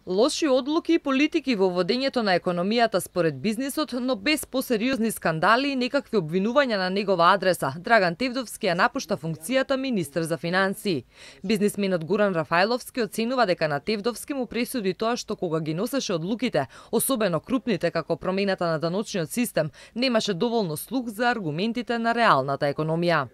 Лоши одлуки и политики во водењето на економијата според бизнисот, но без посериозни скандали и некакви обвинувања на негова адреса, Драган Тевдовски ја напушта функцијата министер за финансии. Бизнисменот Гуран Рафајловски оценува дека на Тевдовски му пресуди тоа што кога ги носеше одлуките, особено крупните како промената на даночниот систем, немаше доволно слух за аргументите на реалната економија.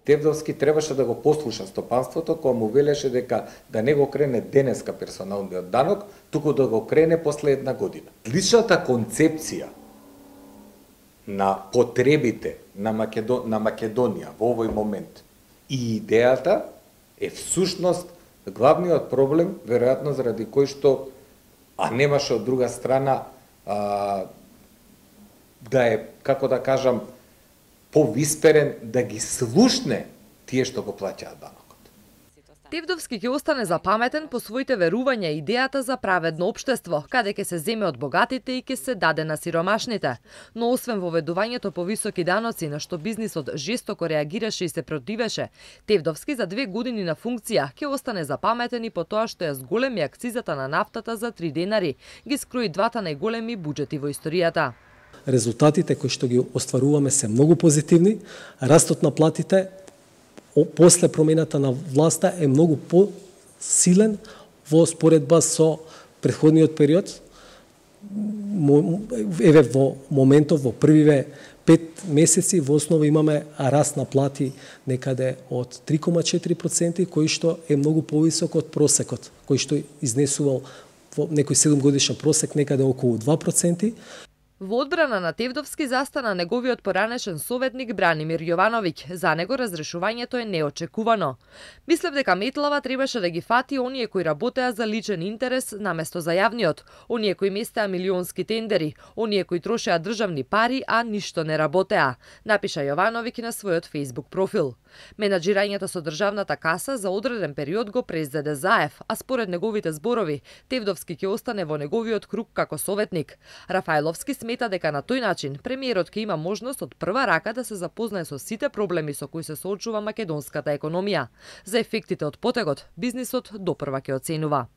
Тевдовски требаше да го послуша стопанството кога му велеше дека да не го крене денеска персоналниот данок, туку да го крене после една година. Личната концепција на потребите на Македонија во овој момент и идејата е всушност главниот проблем, веројатно заради кој што немаше од друга страна да е, како да кажам, повисперен да ги слушне тие што го плаќаат данокот. Тевдовски ќе остане запаметен по своите верувања и идејата за праведно општество, каде ќе се земе од богатите и ќе се даде на сиромашните. Но освен воведувањето по високи даноци, на што бизнисот жестоко реагираше и се противеше, Тевдовски за 2 години на функција ќе остане запаметен и по тоа што ја зголеми акцизата на нафтата за 3 денари, ги скрои двата најголеми буџети во историјата. Резултатите кои што ги остваруваме се многу позитивни. Растот на платите после промената на власта е многу посилен во споредба со претходниот период. Еве во моментов, во првиве 5 месеци, во основа имаме раст на плати некаде од 3,4%, кој што е многу повисок од просекот, кој што изнесувал во некој 7-годишен просек некаде околу 2%. Во одбрана на Тевдовски застана неговиот поранешен советник Бранимир Јовановиќ. За него разрешувањето е неочекувано. Мислев дека метлава требаше да ги фати оние кои работеа за личен интерес наместо за јавниот, оние кои местеа милионски тендери, оние кои трошеа државни пари, а ништо не работеа, напиша Јовановиќ на својот Facebook профил. Менаџирањето со државната каса за одреден период го презеде Заев, а според неговите зборови, Тевдовски ќе остане во неговиот круг како советник. Рафајловски смета дека на тој начин премиерот ќе има можност од прва рака да се запознае со сите проблеми со кои се соочува македонската економија. За ефектите од потегот, бизнисот допрва ќе оценува.